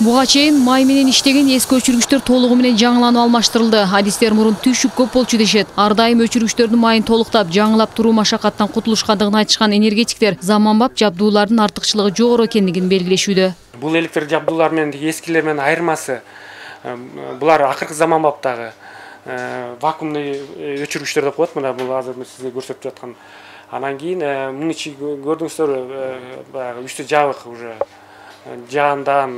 Буга чейин май менен иштеген эски өчүргүчтөр толугу менен жаңыланып алмаштырылды. Адистер мурун түшүк көп болчу дешет. Ар дайым өчүргүчтөрдүн майын толуктап, жаңылап туруу машакаттан кутулушкандыгын айтышкан энергетиктер заманбап жабдуулардын артыкчылыгы жогору экендигин белгилешүүдө. Бул электр жабдуулар менен эскилер менен айырмасы булар акыркы заманбаптагы вакуумный өчүргүчтөр деп коет. Мына бул азыр сизге көрсөтүп жаткан. Анан кийин муну ичи көрдүңүздөр баягы үстү жабык уже жаандан,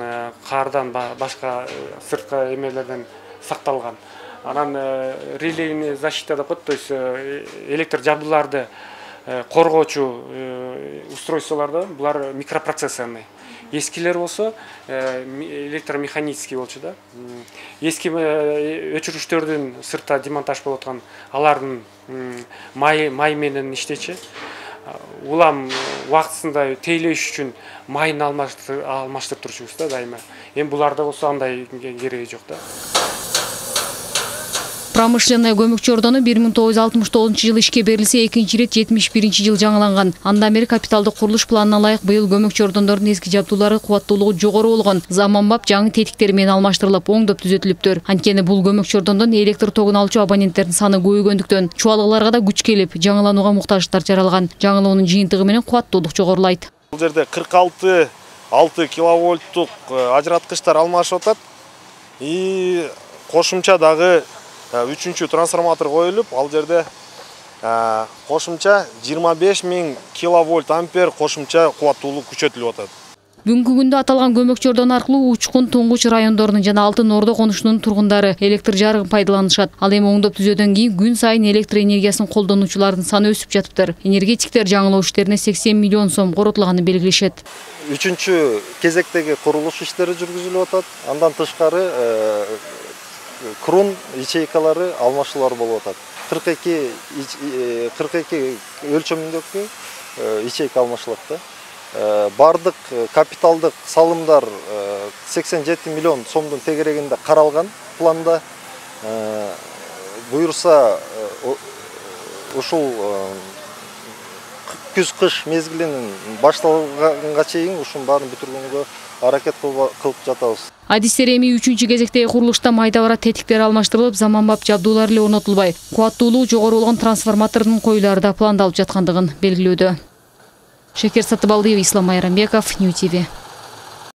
кардан башка сырткы эмелерден сакталган. Анан релейный защита деп коет, то есть электр жабдууларды коргоочу устройстволордо булар микропроцессорный. Эскилер болсо электромеханический болчу да. Эски өчүргүчтөрдүн сыртта демонтаж болуп аткан алардын май менен иштечи. Улам убактысында тейлеш үчүн майын алмаштырып турчубуз да дайыма. Эми буларда болсо андай кереги жок да. Промышленный көмөкчү ордону 1969-жылы ишке берилсе, экинчи ирет 71-жыл жаңыланган. Андан бери капиталдык курулуш планына ылайык быйыл көмөкчү ордондордун эски жабдуулары кубаттуулугу жогору болгон, заманбап жаңы тетиктер менен алмаштырылып, оңдоп түзөтүлүптүр. Анткени бул көмөкчү ордондон электр тогун алчу абоненттердин саны көбөйгөндүктөн чубалыкларга да күч келип, жаңыланууга муктаждыктар жаралган. Жаңылоонун жыйынтыгы менен кубаттуулук жогорулайт. Бул жерде 46 киловольттук ажыраткычтар алмашып атат. И кошумча дагы 3-чү трансформатор коюлуп, ал жерде кошумча 25 000 киловольт ампер кошумча кубаттуулук күчөтүлүп атат. Бүгүнкү күндө аталган көмөкчү ордон аркылуу Учкун, Туңгуч райондорунун жана Алтын Ордо конушунун тургундары электр жарыгын пайдаланышат. Ал эми оңдоп түзөөдөн кийин күн сайын электр энергиясын колдонуучулардын саны өсүп жатыптыр. Энергетиктер жаңылоо иштерине 80 миллион сом коротулганын белгилешет. 3-чү кезектеги курулуш иштери жүргүзүлүп атат. Андан тышкары крун ячейкалары алмашуулар болуп атат. 42 өлчөмүндөгү ячейка алмашылат да. Бардык капиталдык салымдар 87 миллион сомдун тегерегинде каралган планда. Буюрса ушул күз-кыш мезгилинин башталганга чейин ушунун баарын бүтүргөнгө аракет кылып жатабыз. Адистер эми 3-чү кезектеги курулушта майда бара тетиктер алмаштырылып, заманбап жабдуулар эле орнотулбай, кубаттуулугу жогору болгон трансформатордун коюлары да пландалып жаткандыгын белгилөөдө. Шекер Сатыбалдиева, Ислам Майрамбеков, Нью ТВ.